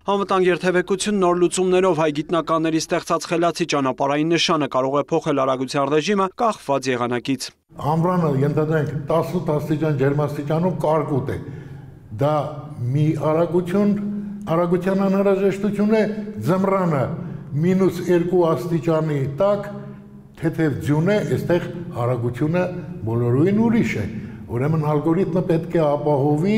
Անվտանգ երթևեկություն նոր լուծումներով հայ գիտնականների ստեղծած խելացի ճանապարհային նշանը կարող է փոխել արագության ռեժիմը կախված եղանակից։ Ամռանը ենթադրենք 18 աստիճան ջերմաստիճանում կարկուտ է։ Դա մի արագության անհրաժեշտություն է, ձմռանը -2 աստիճանի տակ թեթև ձյուն է, այստեղ արագությունը բոլորովին ուրիշ է։ Ուրեմն ալգորիթմը պետք է ապահովի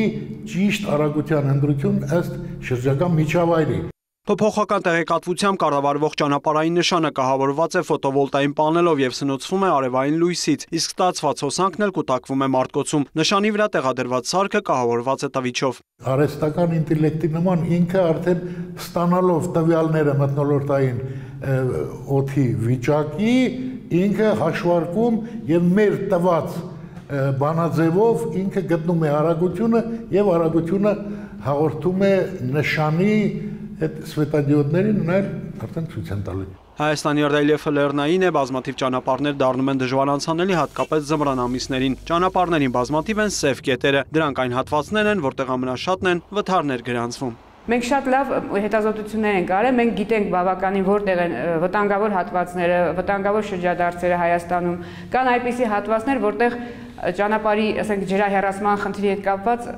ճիշտ արագության ընտրություն ըստ շրջակա միջավայրի։ Փոփոխական տեղեկատվությամբ կառավարվող ճանապարհային նշանը կահավորված է ֆոտովոլտային պանելով եւ սնուցվում է արևային լույսից, իսկ ստացված հոսանքն էլ կուտակվում է մարտկոցում։ Նշանի վրա տեղադրված սարքը կահավորված է տվիչով։ Արհեստական ինտելեկտի նման ինքը արդեն ստանալով տվյալները մթնոլորտային օդի վիճակի, ինքը հաշվարկում եւ մեր տված բանաձևով ինքը գտնում է արագությունը եւ արագությունը հաղորդում է նշանի այդ սվետադիոդներին ու նաեւ արդեն ցույց են տալու։ Հայաստանի ռելիեֆը լեռնային է, բազմաթիվ ճանապարհներ դառնում են դժվար անցանելի, հատկապես ձմռան ամիսներին։ Ճանապարհներին բազմաթիվ են սև կետերը, դրանք այն հատվածներն են, որտեղ ամենաշատն են վթարներ գրանցվում։ Մենք շատ լավ հետազոտություններ ենք արել, մենք գիտենք բավականին որտեղ են վտանգավոր հատվածները, վտանգավոր շրջադարձերը Հայաստանում։ Կան այնպիսի հատվածներ, որտեղ ճանապարհի, ասենք, ջրահեռացման խնդրի հետ կապված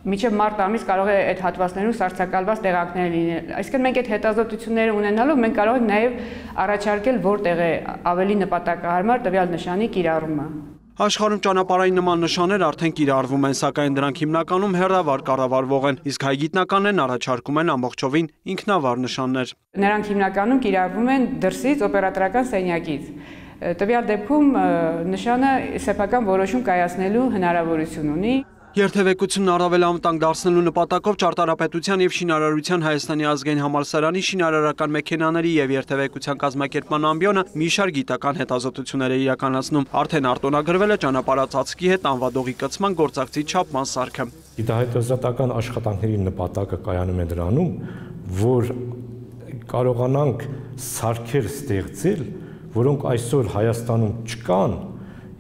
մինչև մարտ ամիս կարող է այդ հատվածներում սառցակալված տեղանքներ լինել։ Այսինքն մենք այդ հետազոտությունները ունենալով մենք կարող ենք նաև առաջարկել որտեղ է ավելի նպատակահարմար տվյալ նշանի կիրառումը։ Աշխարհում ճանապարհային նման նշաններ արդեն կիրառվում են, սակայն դրանք հիմնականում հեռավար կառավարվող են, իսկ հայ գիտնականներն առաջարկում են ամբողջովին ինքնավար նշաններ։ Նրանք հիմնականում կիրառվում են դրսից օպերատորական սենյակից։ Տվյալ դեպքում նշանը սեփական որոշում կայացնելու հնարավորություն ունի։ Երթևեկությունն առավել անվտանգ դարձնելու նպատակով Ճարտարապետության եւ Շինարարության Հայաստանի ազգային համալսարանի շինարարական մեքենաների եւ երթևեկության կազմակերպման ամբիոնը մի շարք գիտական հետազոտություններ է իրականացնում։ Արդեն արտոնագրվել է ճանապարհածածկի հետ անվադողի կցման գործակցի չափման սարքը։ Գիտահետազոտական աշխատանքների նպատակը կայանում է դրանում, որ կարողանանք սարքեր ստեղծել, որոնք այսօր Հայաստանում չկան,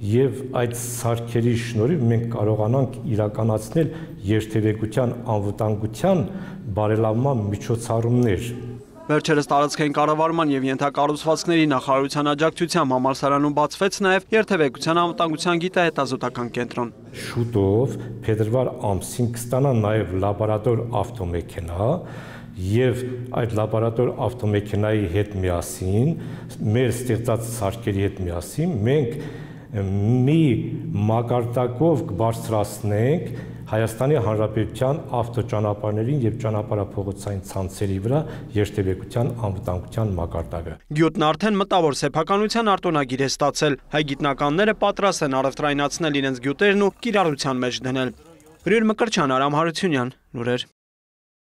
եւ այդ սարքերի շնորհիվ մենք կարողանանք իրականացնել երթևեկության անվտանգության բարելավման միջոցառումներ։ Վերջերս տարածքային կառավարման եւ ենթակառուցվածքների նախարարության աջակցությամբ համալսարանում բացվեց նաեւ երթևեկության անվտանգության գիտահետազոտական կենտրոն։ Շուտով փետրվար ամսին կստանա նաեւ լաբորատոր ավտոմեքենա եւ այդ լաբորատոր ավտոմեքենայի հետ միասին, մեր ստեղծած սարքերի հետ միասին մենք մի մակարդակով կբարձրացնենք Հայաստանի Հանրապետության ավտոճանապարհներին եւ ճանապարհափողոցային ցանցերի վրա երթևեկության անվտանգության մակարդակը։ Գյուտն արդեն մտավոր սեփականության արտոնագիր է ստացել։ Հայ գիտնականները պատրաստ են առևտրայնացնել իրենց գյուտերն ու կիրառության մեջ դնել։ Բրյույր Մկրտչյան, Արամ Հարությունյան, լուրեր։